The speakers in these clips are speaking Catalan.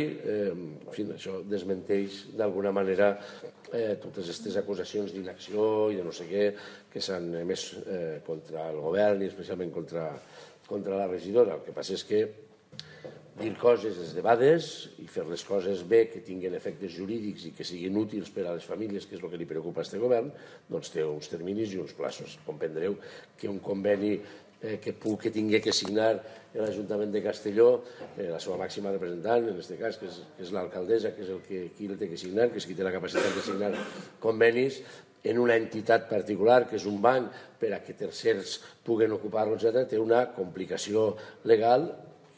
En fi, això desmenteix d'alguna manera totes aquestes acusacions d'inacció i de no sé què que s'han emès contra el govern i especialment contra la regidora. El que passa és que dir coses és debades i fer les coses bé, que tinguin efectes jurídics i que siguin útils per a les famílies, que és el que li preocupa a aquest govern, doncs té uns terminis i uns plaços. Comprendreu que un conveni que tingui que signar l'Ajuntament de Castelló, la seva màxima representant, en aquest cas, que és l'alcaldessa, que és qui el té que signar, que és qui té la capacitat de signar convenis, en una entitat particular, que és un banc, per a que tercers puguen ocupar-lo, etc., té una complicació legal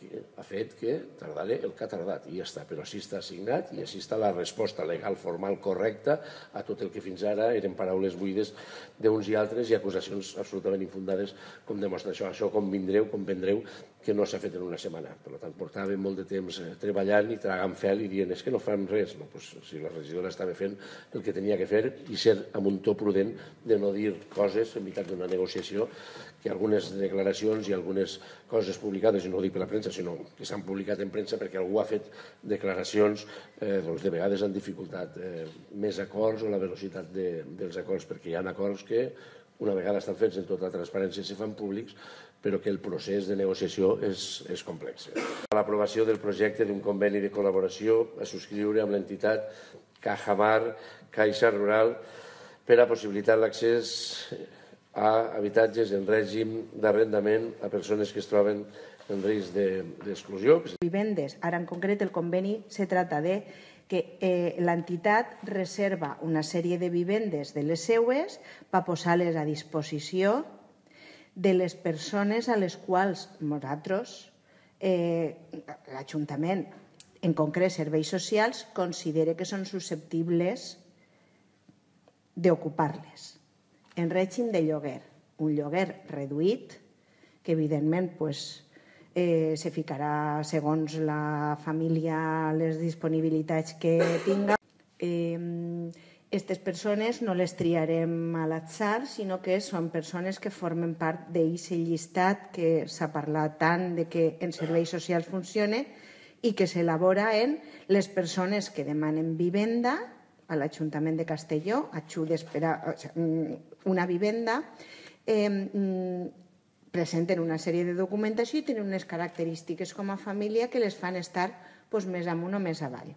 que ha fet que tardara el que ha tardat i ja està, però així està assignat i així està la resposta legal formal correcta a tot el que fins ara eren paraules buides d'uns i altres i acusacions absolutament infundades, com demostra això. Això convindreu que no s'ha fet en una setmana. Per tant, portàvem molt de temps treballant i tragant fel i dient és que no fan res. Si la regidora estava fent el que tenia que fer i ser amb un to prudent de no dir coses en mitjà d'una negociació, que algunes declaracions i algunes coses publicades, i no ho dic per la premsa, sinó que s'han publicat en premsa perquè algú ha fet declaracions de vegades han dificultat més acords o la velocitat dels acords, perquè hi ha acords que una vegada estan fets en tota la transparència i se fan públics, però que el procés de negociació és complex. L'aprovació del projecte d'un conveni de col·laboració a subscriure amb l'entitat Cajamar Caixa Rural per a possibilitar l'accés a habitatges en règim d'arrendament a persones que es troben en risc d'exclusió. Vivendes. Ara, en concret, el conveni se trata de que l'entitat reserva una sèrie de vivendes de les seues per posar-les a disposició de les persones a les quals nosaltres, l'Ajuntament, en concret serveis socials, considera que són susceptibles d'ocupar-les en règim de lloguer, un lloguer reduït que evidentment se ficarà segons la família les disponibilitats que tinga. Aquestes persones no les triarem a l'atzar, sinó que són persones que formen part d'aquest llistat que s'ha parlat tant de que en serveis socials funciona i que s'elabora en les persones que demanen vivenda a l'Ajuntament de Castelló, una vivenda, presenten una sèrie de documentació i tenen unes característiques com a família que les fan estar més amunt o més avall.